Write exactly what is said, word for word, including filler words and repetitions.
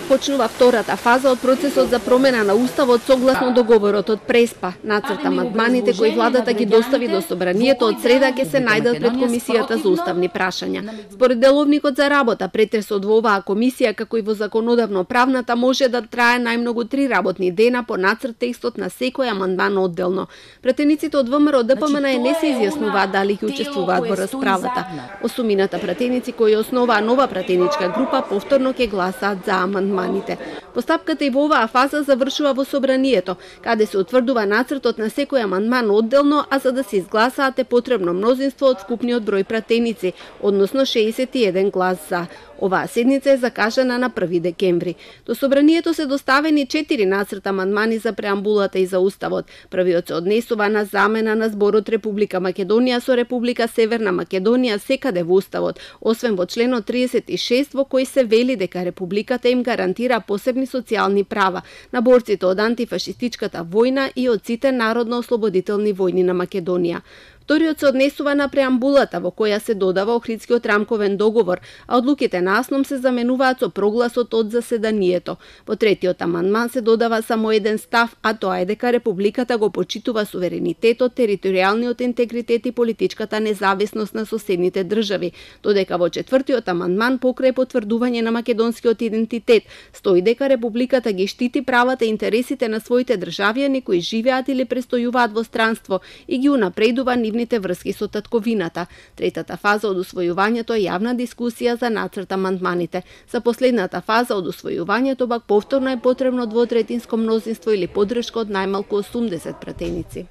започнува втората фаза од процесот за промена на уставот согласно договорот од Преспа. Нацрт амандманите кои владата ги достави до собранието од среда ќе се најдат пред комисијата за уставни прашања. Според деловникот за работа, претресот во оваа комисија како и во законодавно-правната може да трае најмногу три работни дена по нацрт текстот на секој амандман одделно. Пратениците од ВМРО Д П М Н не се изјаснуваат дали ќе учествуваат во расправата. Осумината пратеници кои основаа нова пратеничка група повторно ќе гласаат за амандманите. Постапката и во оваа фаза завршува во собранието, каде се утврдува нацртот на секој амандман одделно, а за да се изгласаат е потребно мнозинство од вкупниот број пратеници, односно шеесет и еден глас за. Оваа седница е закажана на први декември. До собранието се доставени четири нацрт амандмани за преамбулата и за уставот. Првиот се однесува на замена на зборот Република Македонија со Република Северна Македонија секаде во уставот, освен во членот триесет и шест во кој се вели дека републиката им гарантира посебни социјални права на борците од антифашистичката војна и од сите народно-ослободителни војни на Македонија. Вториот се однесува на преамбулата во која се додава Охридскиот рамковен договор, а одлуките на АСНОМ се заменуваат со прогласот од заседанието. Во третиот амандман се додава само еден став, а тоа е дека републиката го почитува суверенитетот, територијалниот интегритет и политичката независност на соседните држави, додека во четвртиот амандман покрај потврдување на македонскиот идентитет стои дека републиката ги штити правата и интересите на своите државјани кои живеат или престојуваат во странство и ги унапредува нивните врски со татковината. Третата фаза од усвојувањето е јавна дискусија за нацрт амандманите. За последната фаза од усвојувањето пак повторно е потребно двотретинско мнозинство или поддршка од најмалку осумдесет пратеници.